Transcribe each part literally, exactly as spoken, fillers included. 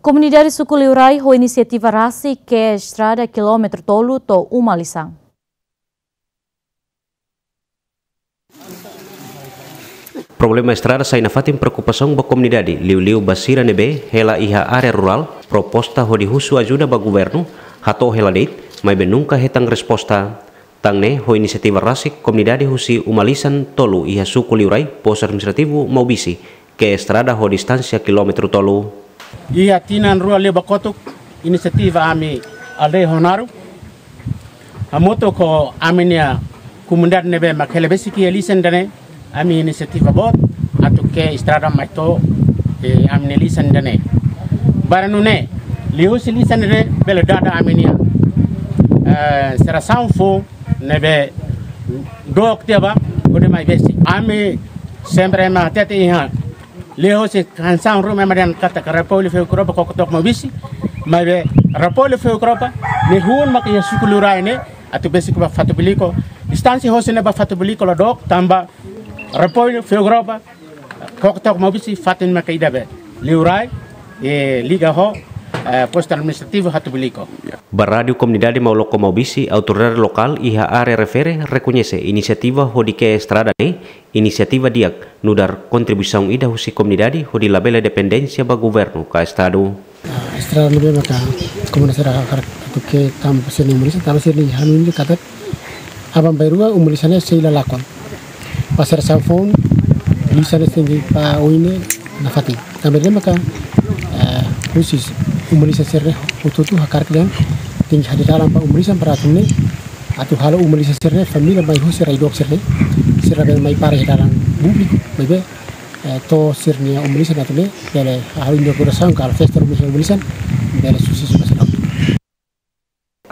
Komunidade Suku Liurai ho inisiativa rasik ke'e estrada kilómetru tolu to'o uma lisan. Problema estrada sai nafatin preokupasaun ba komunidade, liuliu ba sira ne'ebé hela iha área rurál, proposta hodi husu ajuda ba governu, hato'o hela de'it, maibé nunka hetan resposta. Tan ne'e, ho inisiativa rasik komunidade husi uma lisan tolu iha Suku Liurai, Postu Administrativu Maubisse, ke'e estrada ho distánsia kilómetru tolu. Iha tinan rua liubá kotuk, inisiativa ami aldeia Honaro, hamutuk ho ami-nia komunidade ne'ebé mak hela besik iha lisan ida-ne'e, ami inisiativa boot atu ke'e estrada mai to'o, eh, ami-nia lisan ida-ne'e. Bainhira nune'e, liuhusi lisan ida-ne'e bele dada ami-nia, eh, serasaun foun ne'ebé dook tiha ba hodi mai besik. Ami sempre ema hatete iha, liuhusi kansaun ruma ema dehan katak Repollu Feugropa koko took Maubisse, maibé Repollu Feugropa nia hun maka iha Suku Liurai ne'e, atu besik ba Fatubulico. Distánsia hosi ne'e ba Fatubulico la dook, tanba Repollu Feugropa koko took Maubisse fatin maka ida be Liurai, eh, liga ho, eh, Postu Administrativu Fatubulico. Ba Rádiu Komunidade Mauloko Maubisse, autoridade lokál iha área refere rekoñese inisiativa hodi ke'e estrada ne'e inisiativa di'ak, nu'udar kontribuisaun ida husi komunidade hodi labele dependénsia ba governu ka estadu. Ah, estrada ne'ebé maka komunidade sira hakarak atu ke'e tanba sira-nia uma lisan, tanba sira-nia hanoin katak aban-bainrua uma lisan ne'e sei la lakon. Ba serasaun foun, lisan ne'e tenke ba oin ne'e nafatin. Tanba ne'e maka, eh, husi uma lisan sira-ne'e hotu-hotu hakarak dehan tenke hadeer dalan ba uma lisan para atu nune'e, atu halo uma lisan sira-ne'e família mai husi rai dook sira-ne'e, sira bele mai para iha dalan públiku, maibé, eh, to'o sira-nia uma lisan atu nune'e, bele halo inaugurasaun ka halo festa uma lisan, bele susesu ba sira hotu.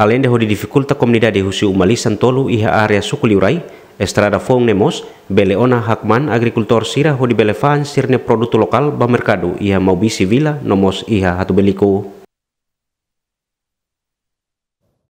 Aleinde hodi difikulta komunidade husi uma lisan tolu iha área Suku Liurai, estrada foun ne'e mós bele ona hakmaan agrikultór sira hodi bele fa'an sira-nia produtu lokál ba merkadu iha Maubisse Vila no mós iha Fatubulico.